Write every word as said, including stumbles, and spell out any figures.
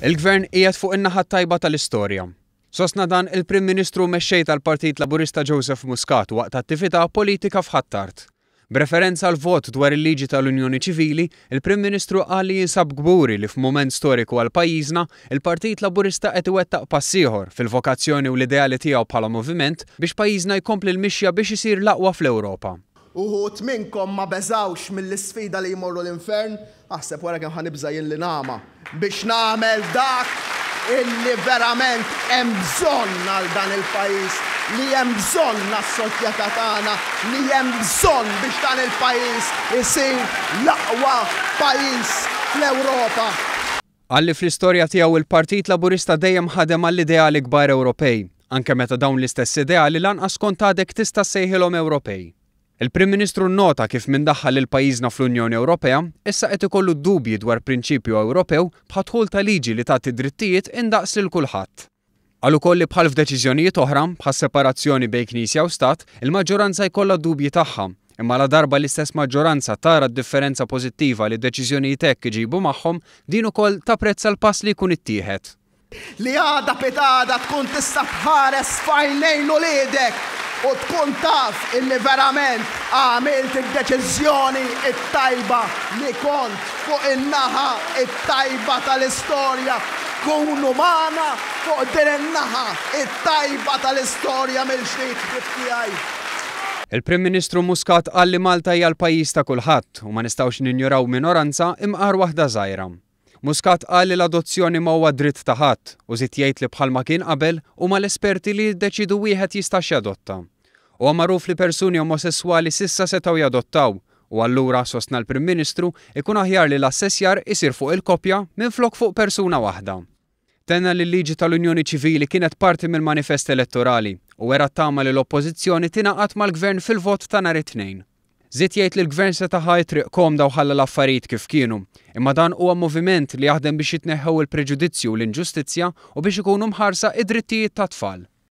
Il-Gvern qiegħed fuq in-naħa tajba tal-istorja. Sostna dan il-Prim Ministru mexxej tal-Partit Laburista Joseph Muscat waqt attività politika f'Ħ'Attard. B'referenza għal vot dwar il-liġi tal-Unjoni Ċivili, il-Prim Ministru qal li jinsab kburi li f'mument storiku għal pajjiżna, il-Partit Laburista qed iwettaq pass ieħor fil-vokazzjoni u l-ideali tiegħu bħala moviment biex pajjiżna jkompli l-mixja biex isir l-aqwa fl-Ewropa. Uħud minnkom ma beżawx mill-isfida li jmorru l-infern, aħseb wara kemm ħa nibża' jien li nagħma biex nagħmel dak illi verament hemm bżonn għal dan il-pajjiż, li hemm bżonn għas-soċjetà tagħna, li hemm bżonn biex dan il-pajjiż isir l-aqwa pajjiż fl-Ewropa. Qal li fl-istorja tiegħu il-Partit Laburista dejjem ħadem għall-ideali kbar Ewropej, anke meta dawn l-istess ideali lanqas kont għadek tista' ssejħilhom Ewropej. Il-Prim Ministru nnota kif min daħħal lil pajjiżna fl-Unjoni Ewropea issa qed ikollu dubji dwar prinċipju Ewropew bħad-dħul ta' liġi li tagħti drittijiet indaqs lil kulħadd. Qal ukoll li bħal f'deċiżjonijiet oħra bħas separazzjoni bejn Knisja u Stat, il-maġġoranza jkollha dubji tagħha, imma la darba l-istess maġġoranza tara d-differenza pożittiva li deċiżjonijiet hekk iġibu magħhom, din ukoll tapprezza l-pass li jkun ittieħed. Li għada pitgħada tkun tista' tħares f'għajnejn uliedek u tkun taf illi verament għamilt id-deċiżjoni it-tajba li kont fuq in-naħa it-tajba tal-istorja. Kunu magħna fuq din in-naħa it-tajba tal-istorja mill-ġdid ħbieb tiegħi. Il-Prim Ministru Muscat qal li Malta hija l-pajjiż ta' kulħadd u ma nistgħux ninjoraw minoranza imqar waħda żgħira. Muscat qal li l-adozzjoni ma huwa dritt ta' ħadd u żied jgħid li bħalma kien qabel huma l-esperti li jiddeċidu wieħed jistax jadotta. Huwa magħruf li persuni omosessuali s'issa setgħu jadottaw u allura sostna l-Prim Ministru ikun aħjar li l-assessjar isir fuq il-koppja minflok fuq persuna waħda. Tenna li l-liġi tal-Unjoni Ċivili kienet parti mill-manifest elettorali u wera tama li l-Oppożizzjoni tingħaqad mal-Gvern fil-vot ta' nhar it-Tnejn. Żied jgħid li l-Gvern seta' ħa triq komda u ħalla l-affarijiet kif kienu, imma dan huwa moviment li jaħdem biex jitneħħew il-preġudizzju u l-inġustizzja u biex ikunu mħarsa id-drittijiet tat-tfal.